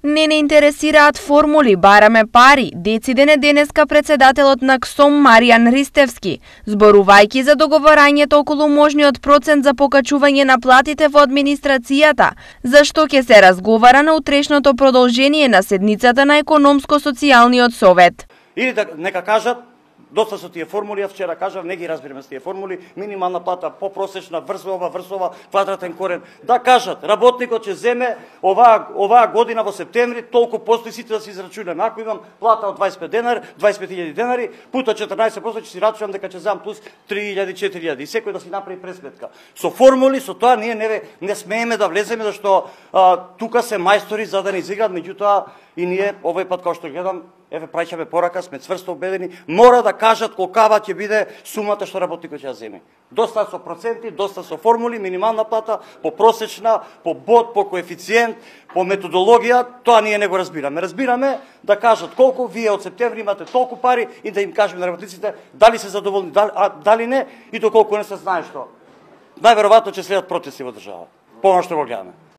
Не интересираат формули, бараме пари, децидене денеска председателот на КСОМ Маријан Ристевски, зборувајќи за договорањето околу можниот процент за покачување на платите во администрацијата, за што ќе се разговара на утрешното продолжение на седницата на Економско-социјалниот совет. Или да нека кажат, доста со тие формули, вчера кажав, не ги разбираме с тие формули, минимална плата попросечна, врзова, квадратен корен, да кажат, работникот ќе земе оваа година во септември, толку постои сите да се израчунаме. Ако имам плата од 25.000 денари, пута 14% ќе си рачунам дека ќе земам плюс 3.000-4.000 и секој да си направи пресметка. Со формули, со тоа ние не смееме да влеземе, зашто тука се мајстори за да не изиграат, меѓутоа и ние овој пат, како што гледам, еве праќаме порака, сме цврсто убедени, мора да кажат колкава ќе биде сумата што работникот ќе земе. Доста со проценти, доста со формули, минимална плата, по просечна, по бод, по коефициент, по методологија, тоа ние не го разбираме. Разбираме да кажат колку вие од септември имате толку пари и да им кажеме на работниците дали се задоволни, дали не и доколку не се знае што. Најверојатно ќе следат протести во држава. По она што го гледаме.